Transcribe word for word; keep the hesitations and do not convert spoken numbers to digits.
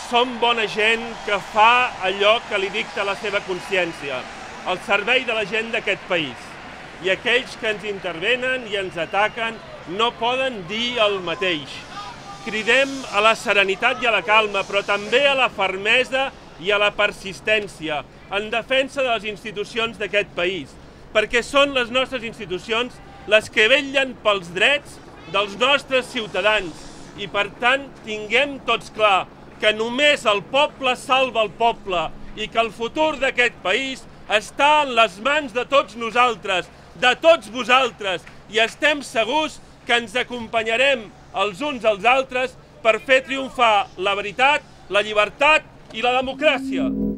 som bona gent que fa allò que li dicta la seva consciència, al servei de la gent d'aquest país. I aquells que ens intervenen i ens ataquen no poden dir el mateix. Cridem a la serenitat i a la calma, però també a la fermesa i a la persistència, en defensa de les institucions d'aquest país, perquè són les nostres institucions les que vetllen pels drets dels nostres ciutadans. I per tant, tinguem tots clar que només el poble salva el poble i que el futur d'aquest país està en les mans de tots nosaltres, de tots vosaltres, i estem segurs que ens acompanyarem els uns als altres per fer triomfar la veritat, la llibertat i la democràcia.